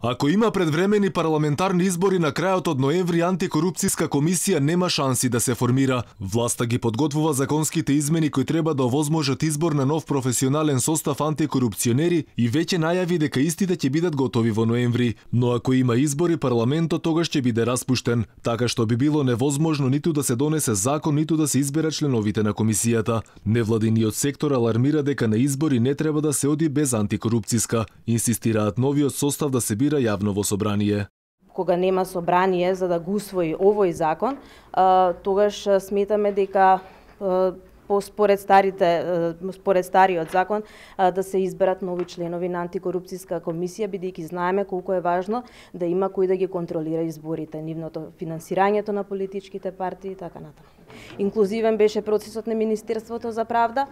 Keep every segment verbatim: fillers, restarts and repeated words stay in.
Ако има предвремени парламентарни избори на крајот од ноември, антикорупцијска комисија нема шанси да се формира. Власта ги подготвува законските измени кои треба да овозможат избор на нов професионален состав антикорупционери и веќе најави дека истите ќе бидат готови во ноември. Но ако има избори, парламентот тогаш ќе биде распуштен, така што би било невозможно ниту да се донесе закон, ниту да се изберат членовите на комисијата. Невладиниот сектор алармира дека на избори не треба да се оди без антикорупцијска. Инсистираат новиот состав да се бира јавно во собрание. Кога нема собрание за да го усвои овој закон, тогаш сметаме дека по според старите според стариот закон да се изберат нови членови на антикорупцијска комисија, бидејќи знаеме колку е важно да има кој да ги контролира изборите, нивното финансирањето на политичките партии и така натаму. Инклузивен беше процесот на Министерството за правда,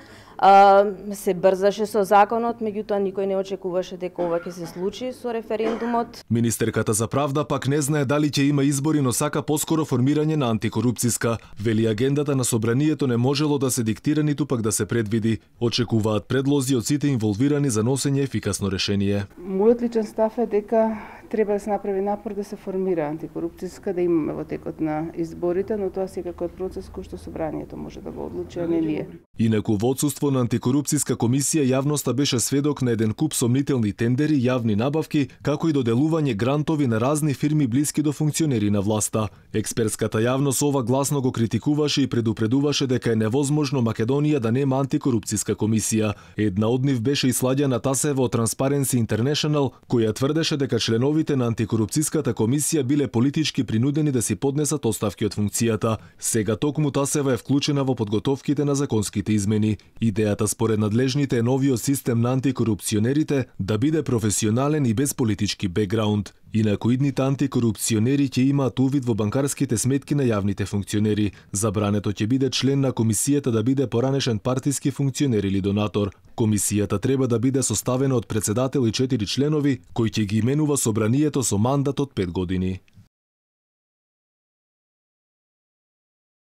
се брзаше со законот, меѓутоа никој не очекуваше дека ова ќе се случи со референдумот. Министерката за правда пак не знае дали ќе има избори, но сака поскоро формирање на антикорупцијска. Вели агендата на собранието не можело да се диктира ниту пак да се предвиди. Очекуваат предлози од сите инволвирани за носење ефикасно решение. Мојот личен став е дека треба да се направи напор да се формира антикорупцијска, да имаме во текот на изборите, но тоа секако е процес кој што собранието може да го одлучи, а не ние. Инаку во отсуство на антикорупцијска комисија јавноста беше сведок на еден куп сомнителни тендери, јавни набавки, како и доделување грантови на разни фирми блиски до функционери на власта. Експертската јавност ова гласно го критикуваше и предупредуваше дека е невозможно Македонија да нема антикорупцијска комисија. Една од нив беше и Сладјана Тасева од Transparency International, која тврдеше дека членовите на антикорупцијската комисија биле политички принудени да си поднесат оставки од функцијата. Сега токму Тасева е вклучена во подготовките на законските измени. Идејата според надлежните е новиот систем на антикорупционерите да биде професионален и без политички бекграунд. Инаку идните антикорупционери ќе имаат увид во банкарските сметки на јавните функционери. Забрането ќе биде член на комисијата да биде поранешен партиски функционер или донатор. Комисијата треба да биде составена од председател и четири членови, кои ќе ги именува собранието со мандат од пет години.